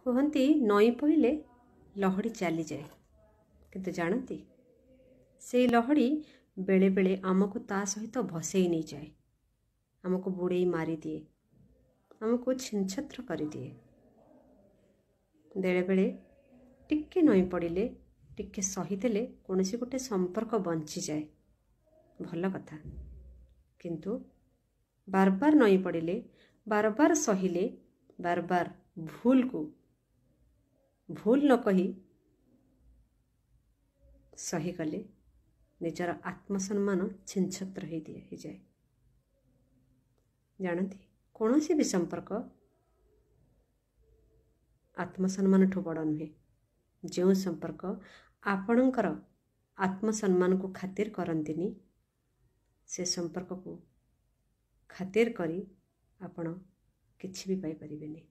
କୁହନ୍ତି ନଇଁ ପଡ଼ିଲେ ଲହଡ଼ି ଚାଲିଯାଏ, କିନ୍ତୁ ଜାଣନ୍ତି ସେଇ ଲହଡ଼ି ବେଳେବେଳେ ଆମକୁ ତା ସହିତ ଭସେଇ ନେଇଯାଏ, ଆମକୁ ବୁଡ଼େଇ ମାରିଦିଏ, ଆମକୁ ଛିନଛତ୍ର କରିଦିଏ। ବେଳେବେଳେ ଟିକେ ନଇଁ ପଡ଼ିଲେ, ଟିକେ ସହିଦେଲେ କୌଣସି ଗୋଟେ ସମ୍ପର୍କ ବଞ୍ଚିଯାଏ, ଭଲ କଥା। କିନ୍ତୁ ବାରବାର ନଇଁ ପଡ଼ିଲେ, ବାରବାର ସହିଲେ, ବାରବାର ଭୁଲକୁ ଭୁଲ ନ କହି ସହିଗଲେ ନିଜର ଆତ୍ମସମ୍ମାନ ଛିନଛତ୍ର ହେଇଯାଏ। ଜାଣନ୍ତି, କୌଣସି ବି ସମ୍ପର୍କ ଆତ୍ମସମ୍ମାନଠୁ ବଡ଼ ନୁହେଁ। ଯେଉଁ ସମ୍ପର୍କ ଆପଣଙ୍କର ଆତ୍ମସମ୍ମାନକୁ ଖାତିର କରନ୍ତିନି, ସେ ସମ୍ପର୍କକୁ ଖାତିର କରି ଆପଣ କିଛି ବି ପାଇପାରିବେନି।